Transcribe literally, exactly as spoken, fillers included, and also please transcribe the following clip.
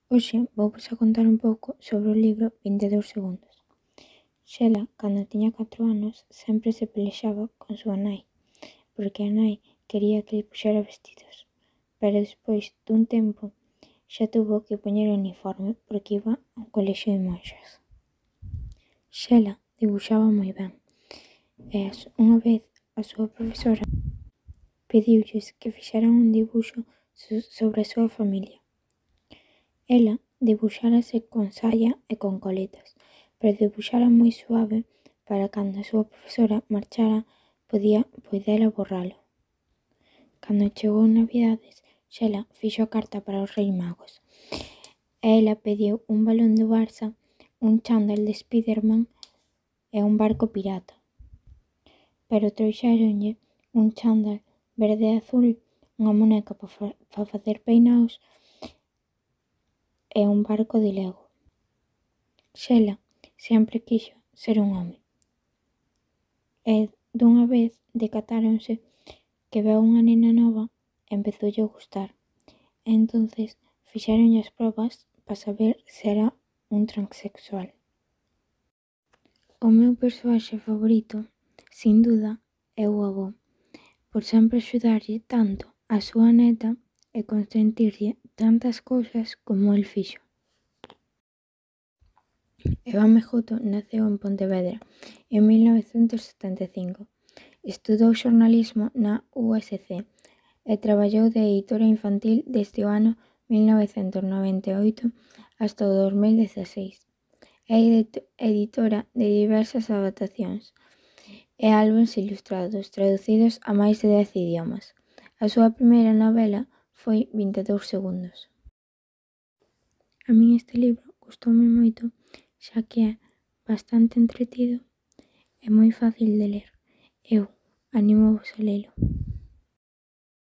Hoxe vouvos a contar un pouco sobre o libro vinte e dous segundos. Xela, cando tiña catro anos, sempre se pelexaba con súa nai, porque a nai quería que lle puxera vestidos, pero despois dun tempo xa tuvo que poñer o uniforme porque iba a un colexio de monxas. Xela debuxaba moi ben e unha vez a súa profesora pediulles que fixeran un dibuxo sobre a súa familia. Ela debuxárase con saia e con coletas, pero debuxara moi suave para cando a súa profesora marchara podía poidera borralo. Cando chegou Navidades, Xela fixo a carta para os Reis Magos e ela pediu un balón do Barça, un chándal de Spiderman e un barco pirata. Pero trouxéronlle un chándal verde e azul, unha muñeca pa fa pa facer peinaos e un barco de Lego. Xela sempre quixo ser un home e dunha vez decatáronse que veu unha nena nova e empezoulle a gustar. E entonces fixéronlle as probas pa saber se era un transexual. O meu persoaxe favorito, sin duda, é o avó, por sempre axudarlle tanto a súa neta e consentirlle tantas cousas como el fixo. Eva Mejuto naceu en Pontevedra en mil novecentos setenta e cinco. Estudou xornalismo na U S C e traballou de editora infantil desde o ano mil novecentos noventa e oito hasta o dos mil dezaseis. É editora de diversas adaptacións e álbums ilustrados traducidos a máis de dez idiomas. A súa primeira novela foi vinte e dous segundos. A min este libro gustoume moito, xa que é bastante entretido e moi fácil de ler. Eu anímovos a lelo.